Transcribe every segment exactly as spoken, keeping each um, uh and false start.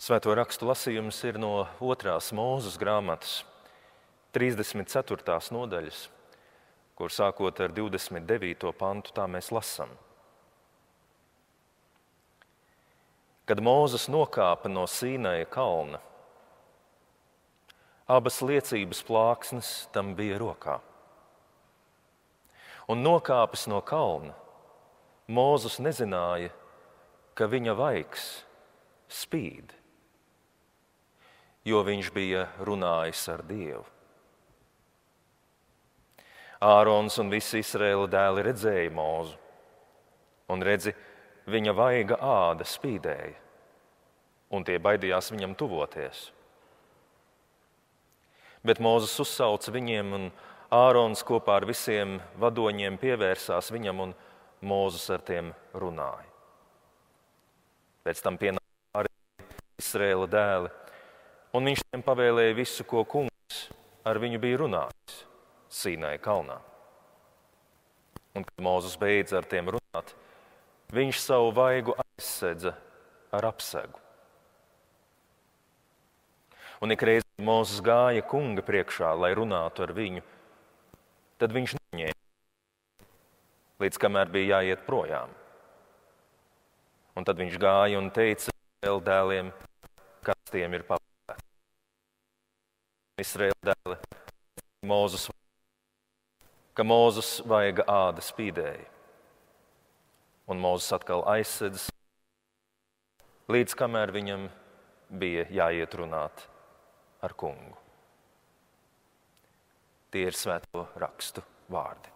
Svēto rakstu lasījums ir no otrās Mūzes grāmatas, trīsdesmit ceturtās nodaļas, kur sākot ar divdesmit devīto pantu tā mēs lasam. Kad Mūzes nokāpa no Sīnaja kalna, abas liecības plāksnes tam bija rokā. Un nokāpis no kalna, Mūzes nezināja, ka viņa vaigs spīd, jo viņš bija runājis ar Dievu. Ārons un visi Izraēla dēli redzēja Mūzu, un redzi, viņa vaiga āda spīdēja, un tie baidījās viņam tuvoties. Bet Mūzes uzsauca viņiem, un Ārons kopā ar visiem vadoņiem pievērsās viņam, un Mūzes ar tiem runāja. Pēc tam pienāca arī Izraēla dēli, un viņš tiem pavēlēja visu, ko kungs ar viņu bija runājis Sīnaja kalnā. Un, kad Mūzes beidza ar tiem runāt, viņš savu vaigu aizsedza ar apsegu. Un ikreiz, kad Mūzes gāja kunga priekšā, lai runātu ar viņu, tad viņš neņēma, līdz kamēr bija jāiet projām. Un tad viņš gāja un teica Izraēla dēliem, kas tiem ir pavēlēts. Izraēla dēli, Mūzes, ka Mūzes vaiga āda spīdēja. Un Mūzes atkal aizsedz, līdz kamēr viņam bija jāiet runāt ar kungu. Tie ir svēto rakstu vārdi.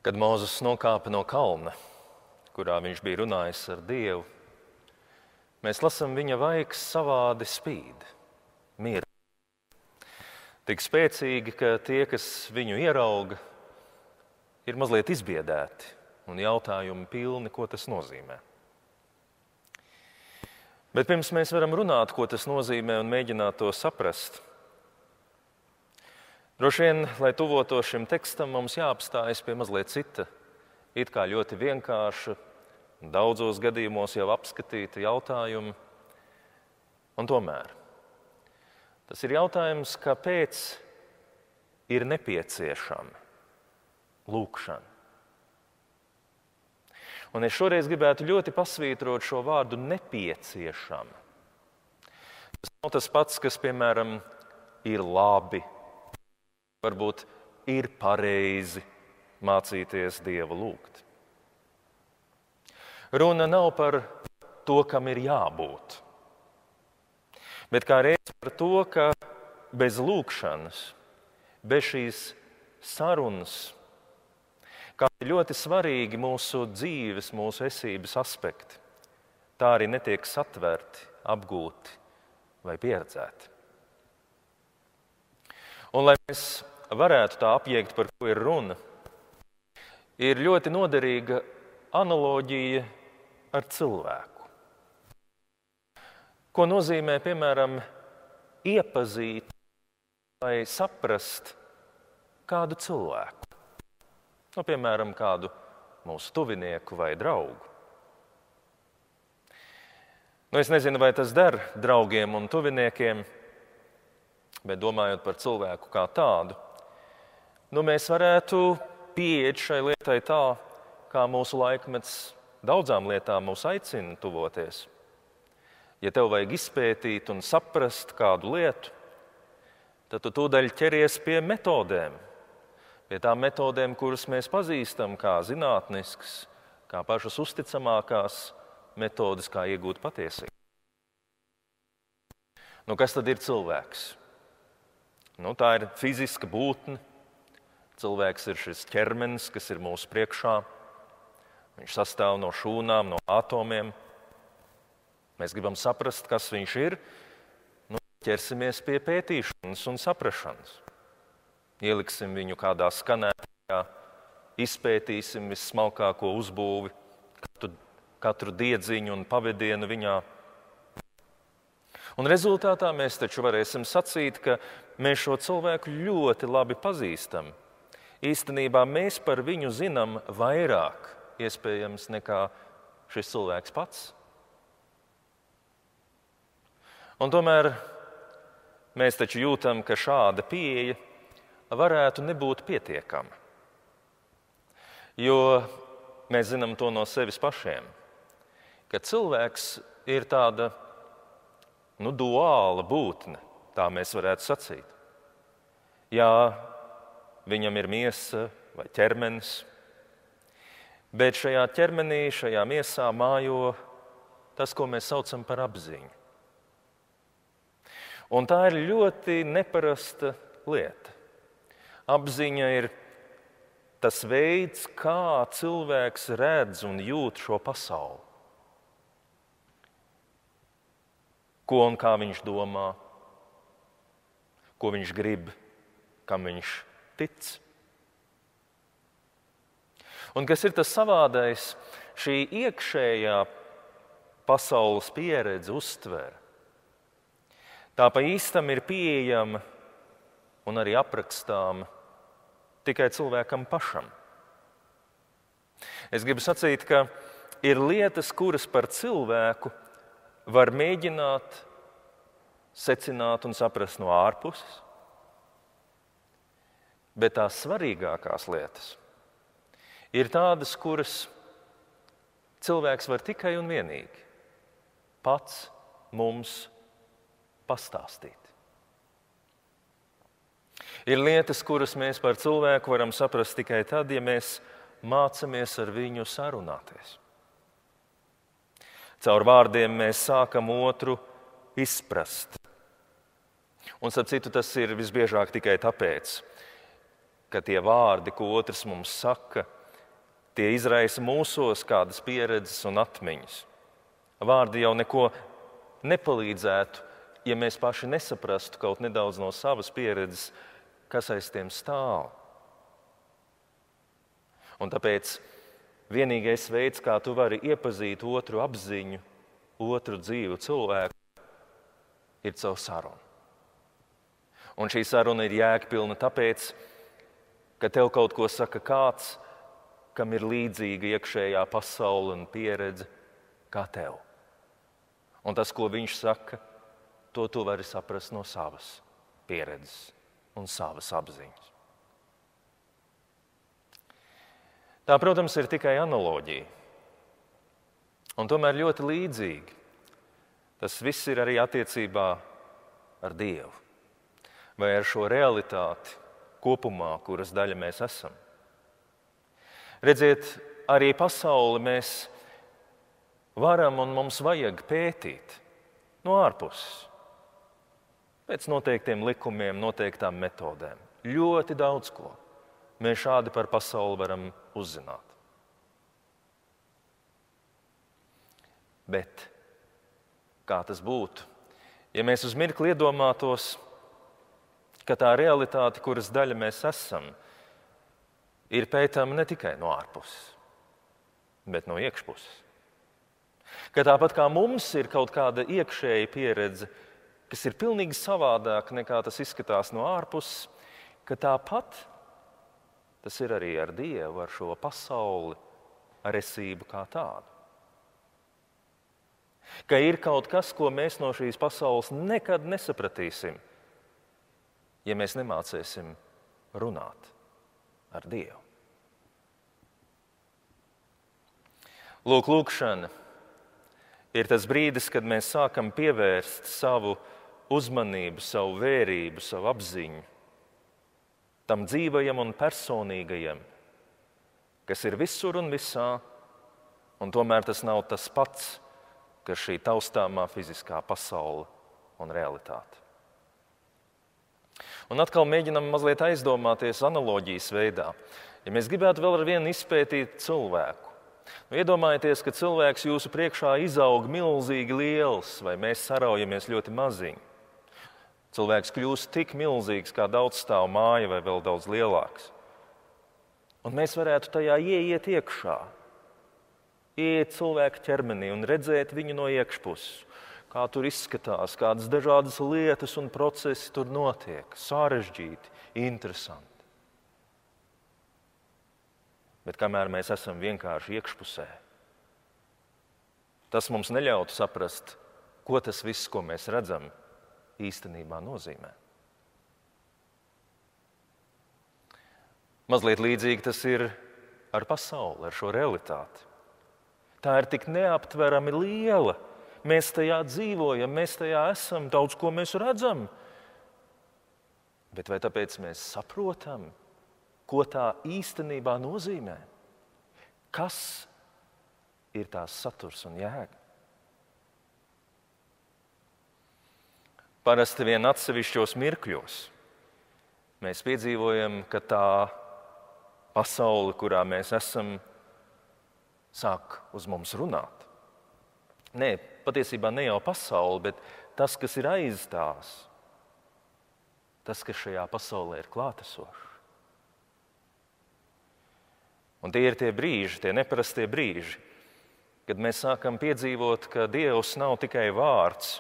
Kad Mūzes nokāpa no kalna, kurā viņš bija runājis ar Dievu, mēs lasām, viņa vaigs savādi spīd, miera. Tik spēcīgi, ka tie, kas viņu ierauga, ir mazliet izbiedēti un jautājumi pilni, ko tas nozīmē. Bet pirms mēs varam runāt, ko tas nozīmē un mēģināt to saprast, droši vien, lai tuvotos šim tekstam, mums jāapstājas pie mazliet cita, it kā ļoti vienkārša, daudzos gadījumos jau apskatīta jautājuma. Un tomēr tas ir jautājums, kāpēc ir nepieciešama lūgšana. Un es šoreiz gribētu ļoti pasvītrot šo vārdu nepieciešama. Tas nav tas pats, kas, piemēram, ir labi. Varbūt ir pareizi mācīties Dievu lūgt. Runa nav par to, kam ir jābūt, bet kā reiz par to, ka bez lūgšanas, bez šīs sarunas, kā ļoti svarīgi mūsu dzīves, mūsu esības aspekti, tā arī netiek satverti, apgūti vai pieredzēti. Un, lai mēs varētu tā apjēgt, par ko ir runa, ir ļoti noderīga analoģija ar cilvēku. Ko nozīmē, piemēram, iepazīt vai saprast kādu cilvēku? Nu, piemēram, kādu mūsu tuvinieku vai draugu. Nu, es nezinu, vai tas der draugiem un tuviniekiem, bet domājot par cilvēku kā tādu, nu, mēs varētu pieiet šai lietai tā, kā mūsu laikmets daudzām lietām mūs aicina tuvoties. Ja tev vajag izpētīt un saprast kādu lietu, tad tu tūdaļ ķeries pie metodēm, pie tām metodēm, kuras mēs pazīstam kā zinātniskas, kā pašas uzticamākās metodes, kā iegūt patiesību. Nu, kas tad ir cilvēks? Nu, tā ir fiziska būtne. Cilvēks ir šis ķermenis, kas ir mūsu priekšā. Viņš sastāv no šūnām, no atomiem. Mēs gribam saprast, kas viņš ir. Nu, ķersimies pie pētīšanas un saprašanas. Ieliksim viņu kādā skanētājā, izpētīsim vissmalkāko uzbūvi, katru, katru diedziņu un pavedienu viņā. Un rezultātā mēs taču varēsim sacīt, ka mēs šo cilvēku ļoti labi pazīstam. Īstenībā mēs par viņu zinām vairāk iespējams nekā šis cilvēks pats. Un tomēr mēs taču jūtam, ka šāda pieeja varētu nebūt pietiekama. Jo mēs zinām to no sevis pašiem, ka cilvēks ir tāda nu, duāla būtne, tā mēs varētu sacīt. Jā, viņam ir miesa vai ķermenis, bet šajā ķermenī, šajā miesā mājo tas, ko mēs saucam par apziņu. Un tā ir ļoti neparasta lieta. Apziņa ir tas veids, kā cilvēks redz un jūt šo pasauli. Ko un kā viņš domā, ko viņš grib, kam viņš tic. Un kas ir tas savādais, šī iekšējā pasaules pieredze, uztvere, tā pa īstam ir pieejama un arī aprakstāma tikai cilvēkam pašam. Es gribu sacīt, ka ir lietas, kuras par cilvēku var mēģināt secināt un saprast no ārpuses, bet tās svarīgākās lietas ir tādas, kuras cilvēks var tikai un vienīgi pats mums pastāstīt. Ir lietas, kuras mēs par cilvēku varam saprast tikai tad, ja mēs mācamies ar viņu sarunāties. Caur vārdiem mēs sākam otru izprast. Un, starp citu, tas ir visbiežāk tikai tāpēc, ka tie vārdi, ko otrs mums saka, tie izraisa mūsos kādas pieredzes un atmiņas. Vārdi jau neko nepalīdzētu, ja mēs paši nesaprastu kaut nedaudz no savas pieredzes, kas aiz tiem stāv. Un tāpēc vienīgais veids, kā tu vari iepazīt otru apziņu, otru dzīvu cilvēku, ir caur sarunu. Un šī saruna ir jēgpilna tāpēc, ka tev kaut ko saka kāds, kam ir līdzīga iekšējā pasaule un pieredze kā tev. Un tas, ko viņš saka, to tu vari saprast no savas pieredzes un savas apziņas. Tā, protams, ir tikai analoģija. Un tomēr ļoti līdzīgi. Tas viss ir arī attiecībā ar Dievu. Vai ar šo realitāti kopumā, kuras daļa mēs esam. Redziet, arī pasauli mēs varam un mums vajag pētīt no ārpuses. Pēc noteiktiem likumiem, noteiktām metodēm. Ļoti daudz ko mēs šādi par pasauli varam uzzināt. Bet kā tas būtu, ja mēs uz mirkli iedomātos, ka tā realitāte, kuras daļa mēs esam, ir pētāma ne tikai no ārpuses, bet no iekšpuses. Ka tāpat kā mums ir kaut kāda iekšēja pieredze, kas ir pilnīgi savādāk nekā tas izskatās no ārpuses, ka tāpat tas ir arī ar Dievu, ar šo pasauli, ar esību kā tādu. Ka ir kaut kas, ko mēs no šīs pasaules nekad nesapratīsim, ja mēs nemācēsim runāt ar Dievu. Lūk, lūkšana ir tas brīdis, kad mēs sākam pievērst savu uzmanību, savu vērību, savu apziņu tam dzīvajam un personīgajam, kas ir visur un visā, un tomēr tas nav tas pats, kas šī taustāmā fiziskā pasaule un realitāte. Un atkal mēģinam mazliet aizdomāties analoģijas veidā. Ja mēs gribētu vēl ar vienu izpētīt cilvēku, nu, iedomājieties, ka cilvēks jūsu priekšā izaug milzīgi liels, vai mēs saraujamies ļoti maziņi. Cilvēks kļūst tik milzīgs, kā daudzstāvu māja vai vēl daudz lielāks. Un mēs varētu tajā ieiet iekšā, ieiet cilvēka ķermenī un redzēt viņu no iekšpuses, kā tur izskatās, kādas dažādas lietas un procesi tur notiek, sarežģīti, interesanti. Bet kamēr mēs esam vienkārši iekšpusē, tas mums neļautu saprast, ko tas viss, ko mēs redzam, īstenībā nozīmē. Mazliet līdzīgi tas ir ar pasauli, ar šo realitāti. Tā ir tik neaptverami liela. Mēs tajā dzīvojam, mēs tajā esam, daudz ko mēs redzam. Bet vai tāpēc mēs saprotam, ko tā īstenībā nozīmē? Kas ir tās saturs un jēga? Parasti vien atsevišķos mirkļos mēs piedzīvojam, ka tā pasaule, kurā mēs esam, sāk uz mums runāt. Nē, patiesībā ne jau pasaule, bet tas, kas ir aiz tās, tas, kas šajā pasaulē ir klātesošs. Un tie ir tie brīži, tie neparastie brīži, kad mēs sākam piedzīvot, ka Dievs nav tikai vārds,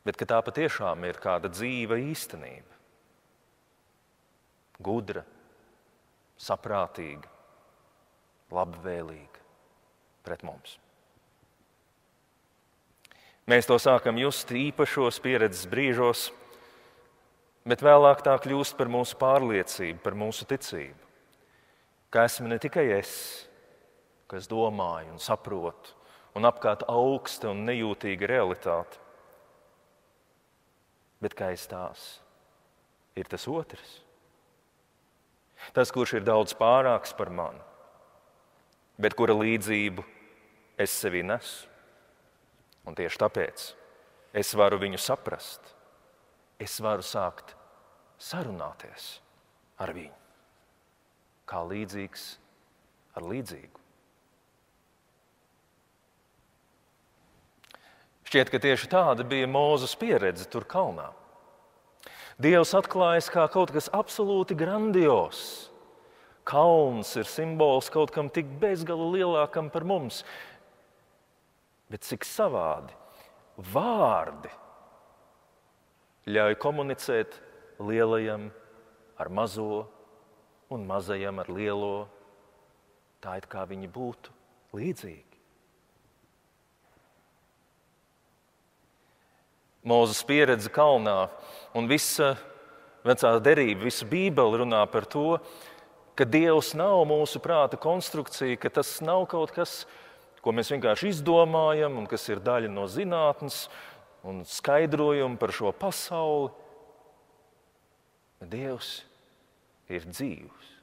bet ka tā patiešām ir kāda dzīva īstenība. Gudra, saprātīga, labvēlīga pret mums. Mēs to sākam just īpašos pieredzes brīžos, bet vēlāk tā kļūst par mūsu pārliecību, par mūsu ticību. Ka esmu ne tikai es, kas domāju un saprotu, un apkārt augsta un nejūtīga realitāte, bet ka aiz tās ir tas otrs. Tas, kurš ir daudz pārāks par mani, bet kura līdzību es sevī nesu. Un tieši tāpēc es varu viņu saprast, es varu sākt sarunāties ar viņu, kā līdzīgs ar līdzīgu. Šķiet, ka tieši tāda bija Mūzes pieredze tur kalnā. Dievs atklājas kā kaut kas absolūti grandios. Kalns ir simbols kaut kam tik bezgala lielākam par mums. Bet cik savādi vārdi ļauj komunicēt lielajam ar mazo un mazajam ar lielo, tā it kā viņi būtu līdzīgi. Mūzes pieredze kalnā un visa vecā derība, visa Bībele runā par to, ka Dievs nav mūsu prāta konstrukcija, ka tas nav kaut kas, ko mēs vienkārši izdomājam un kas ir daļa no zinātnes un skaidrojumu par šo pasauli. Dievs ir dzīvs.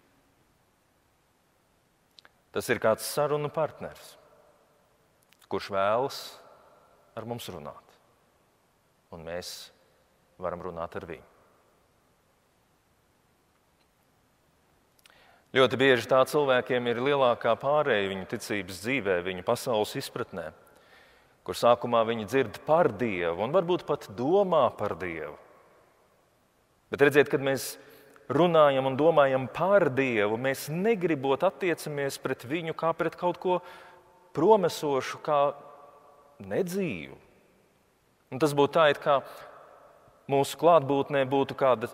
Tas ir kāds sarunu partners, kurš vēlas ar mums runāt. Un mēs varam runāt ar viņu. Ļoti bieži tā cilvēkiem ir lielākā pārēja viņu ticības dzīvē, viņu pasaules izpratnē, kur sākumā viņi dzird par Dievu un varbūt pat domā par Dievu. Bet redziet, kad mēs runājam un domājam par Dievu, mēs negribot attiecamies pret viņu kā pret kaut ko promesošu, kā nedzīvu. Un tas būtu tā, it kā mūsu klātbūtnē būtu kāda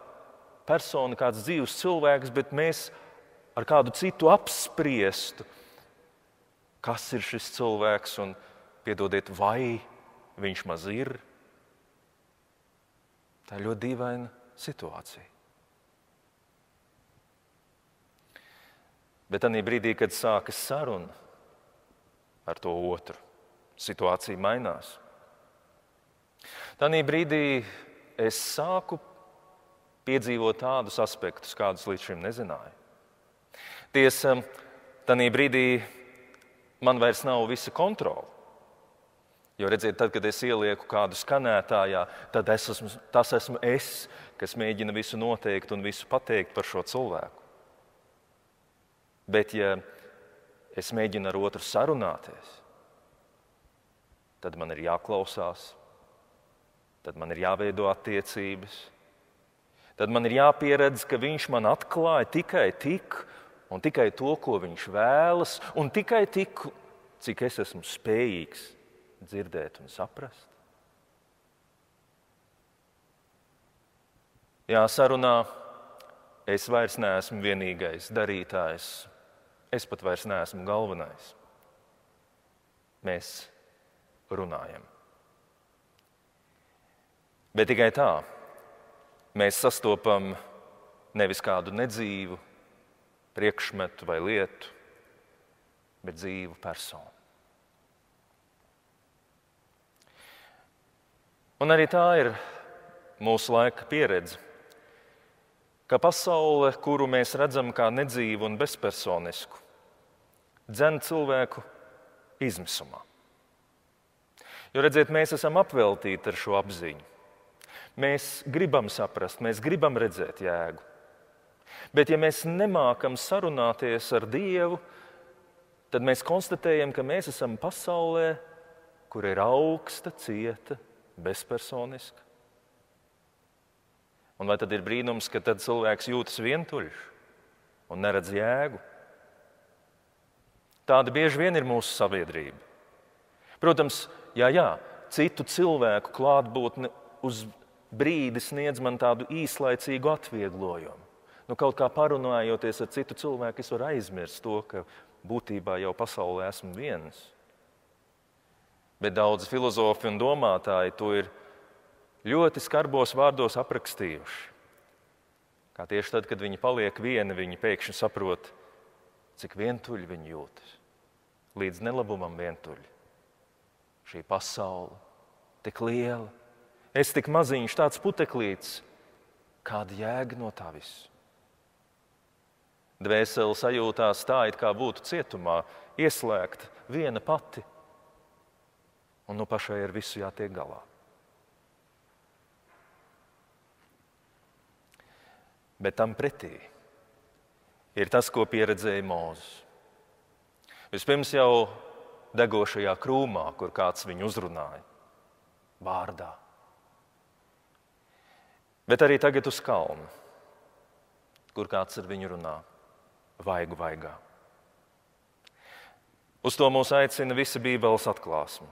persona, kāds dzīvs cilvēks, bet mēs ar kādu citu apspriestu, kas ir šis cilvēks un, piedodiet, vai viņš maz ir. Tā ir ļoti dīvaina situācija. Bet tajā brīdī, kad sākas saruna ar to otru, situācija mainās. Tajā brīdī es sāku piedzīvot tādus aspektus, kādus līdz šim nezināju. Tiesa, tajā brīdī man vairs nav visa kontrola. Jo, redziet, tad, kad es ielieku kādu skanētājā, tad es esmu, tas esmu es, kas mēģina visu noteikt un visu pateikt par šo cilvēku. Bet, ja es mēģinu ar otru sarunāties, tad man ir jāklausās, tad man ir jāveido attiecības, tad man ir jāpieredz, ka viņš man atklāja tikai tik un tikai to, ko viņš vēlas, un tikai tik, cik es esmu spējīgs dzirdēt un saprast. Jā, sarunā es vairs neesmu vienīgais darītājs es pat vairs neesmu galvenais. Mēs runājam. Bet tikai tā mēs sastopam nevis kādu nedzīvu priekšmetu vai lietu, bet dzīvu personu. Un arī tā ir mūsu laika pieredze, ka pasaule, kuru mēs redzam kā nedzīvu un bezpersonisku, dzen cilvēku izmisumā. Jo, redziet, mēs esam apveltīti ar šo apziņu. Mēs gribam saprast, mēs gribam redzēt jēgu. Bet ja mēs nemākam sarunāties ar Dievu, tad mēs konstatējam, ka mēs esam pasaulē, kur ir augsta, cieta, bezpersoniska. Un vai tad ir brīnums, ka tad cilvēks jūtas vientuļš un neredz jēgu? Tāda bieži vien ir mūsu sabiedrība. Protams, jā, jā, citu cilvēku klātbūtne uz brīdi sniedz man tādu īslaicīgu atvieglojumu. Nu, kaut kā parunājoties ar citu cilvēku, es varu aizmirst to, ka būtībā jau pasaulē esmu viens. Bet daudzi filozofi un domātāji to ir ļoti skarbos vārdos aprakstījuši. Kā tieši tad, kad viņi paliek vieni, viņi pēkšņi saprot, cik vientuļi viņi jūtas. Līdz nelabumam vientuļi. Šī pasaule tik liela, es tik maziņš, tāds puteklīts, kāda jēga no tā viss. Dvēsele sajūtās tā, it kā būtu cietumā, ieslēgta viena pati, un nu pašai ar visu jātiek galā. Bet tam pretī ir tas, ko pieredzēja Mūzes. Vispirms jau degošajā krūmā, kur kāds viņu uzrunāja, vārdā. Bet arī tagad uz kalna, kur kāds ar viņu runā, vaigu vaigā. Uz to mūs aicina visa Bībeles atklāsme.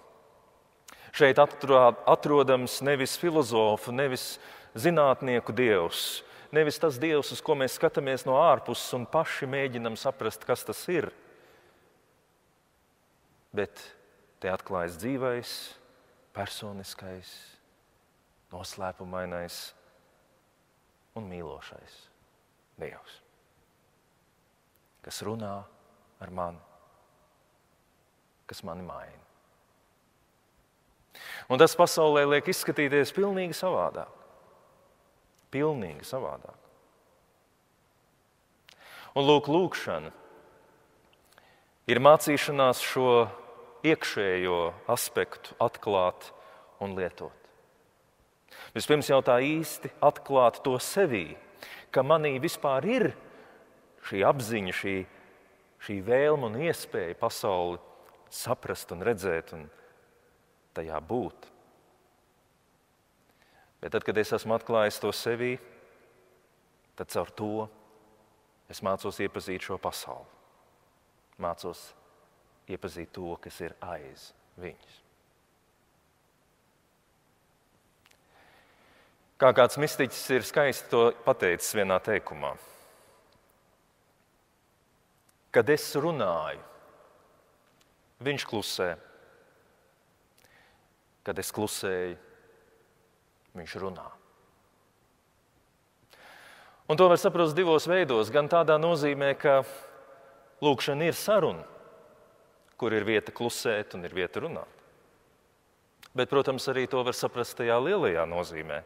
Šeit atrodams nevis filozofu, nevis zinātnieku dievs, nevis tas dievs, uz ko mēs skatāmies no ārpuses un paši mēģinam saprast, kas tas ir. Bet te atklājas dzīvais, personiskais, noslēpumainais un mīlošais Dievs, kas runā ar mani, kas mani maina. Un tas pasaulē liek izskatīties pilnīgi savādāk. Pilnīgi savādāk. Un lūk, lūkšana ir mācīšanās šo iekšējo aspektu atklāt un lietot. Vispirms jau tā īsti atklāt to sevī, ka manī vispār ir šī apziņa, šī, šī vēlme un iespēja pasauli saprast un redzēt un tajā būt. Bet tad, kad es esmu atklājis to sevī, tad caur to es mācos iepazīt šo pasauli. Mācos iepazīt to, kas ir aiz viņas. Kā kāds mistiķis ir skaisti to pateicis vienā teikumā. Kad es runāju, viņš klusē. Kad es klusēju, viņš runā. Un to var saprast divos veidos. Gan tādā nozīmē, ka lūkšana ir saruna, kur ir vieta klusēt un ir vieta runāt. Bet, protams, arī to var saprast tajā lielajā nozīmē,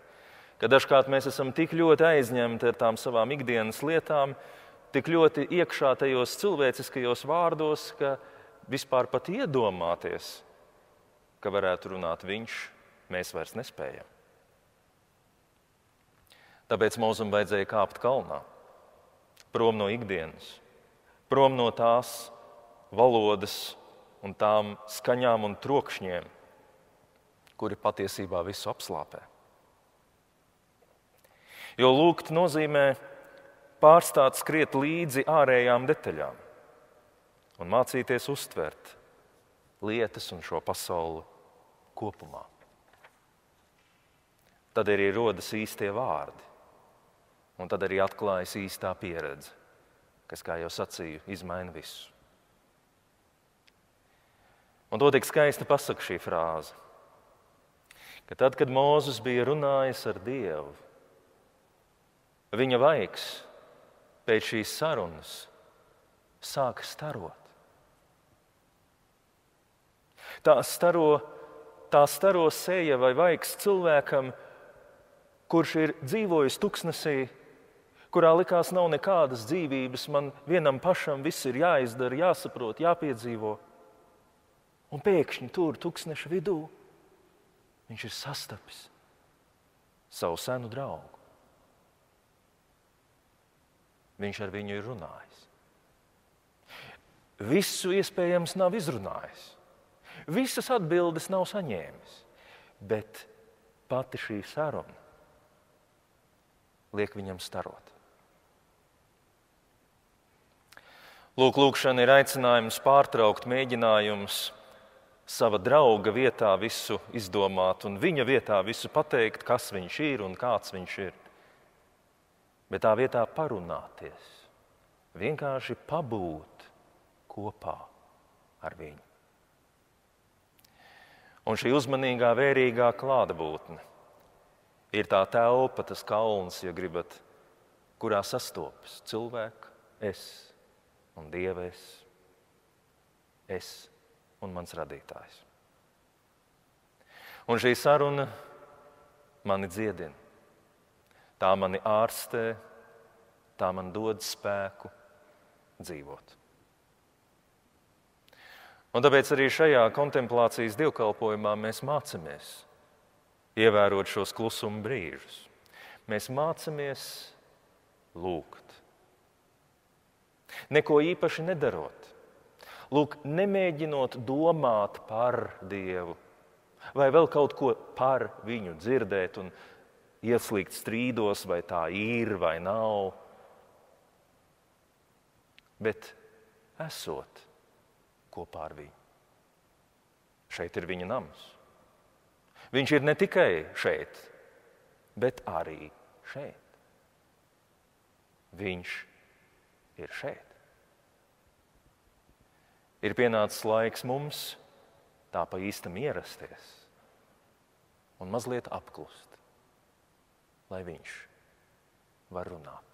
ka dažkārt mēs esam tik ļoti aizņemti ar tām savām ikdienas lietām, tik ļoti iekšā tajos cilvēciskajos vārdos, ka vispār pat iedomāties, ka varētu runāt viņš, mēs vairs nespējam. Tāpēc Mūzum vajadzēja kāpt kalnā, prom no ikdienas, prom no tās valodas un tām skaņām un trokšņiem, kuri patiesībā visu apslāpē. Jo lūgt nozīmē pārstāt skriet līdzi ārējām detaļām un mācīties uztvert lietas un šo pasauli kopumā. Tad arī rodas īstie vārdi, un tad arī atklājas īstā pieredze, kas, kā jau sacīju, izmaina visu. Un to tik skaisti pasaka šī frāze, ka tad, kad Mūzes bija runājis ar Dievu, viņa vaigs pēc šīs sarunas sāka starot. Tā staro, tā staro seja vai vaigs cilvēkam, kurš ir dzīvojis tuksnesī, kurā likās nav nekādas dzīvības, man vienam pašam viss ir jāizdara, jāsaprot, jāpiedzīvo. Un pēkšņi tur, tuksneša vidū, viņš ir sastapis savu senu draugu. Viņš ar viņu ir runājis. Visu iespējams nav izrunājis. Visas atbildes nav saņēmis. Bet pati šī saruna liek viņam starot. Lūk, lūkšana ir aicinājums pārtraukt mēģinājums sava drauga vietā visu izdomāt un viņa vietā visu pateikt, kas viņš ir un kāds viņš ir. Bet tā vietā parunāties, vienkārši pabūt kopā ar viņu. Un šī uzmanīgā, vērīgā klātbūtne ir tā telpa, tas kalns, ja gribat, kurā sastopas cilvēka es un Dieva es, es un mans radītājs. Un šī saruna mani dziedina. Tā mani ārstē, tā man dod spēku dzīvot. Un tāpēc arī šajā kontemplācijas dievkalpojumā mēs mācamies ievērot šos klusuma brīžus. Mēs mācamies lūgt. Neko īpaši nedarot. Lūk, nemēģinot domāt par Dievu vai vēl kaut ko par viņu dzirdēt un ieslīgt strīdos, vai tā ir vai nav, bet esot kopā ar viņu. Šeit ir viņa nams. Viņš ir ne tikai šeit, bet arī šeit. Viņš ir šeit. Ir pienācis laiks mums tā pa īstam ierasties un mazliet apklust, lai viņš var runāt.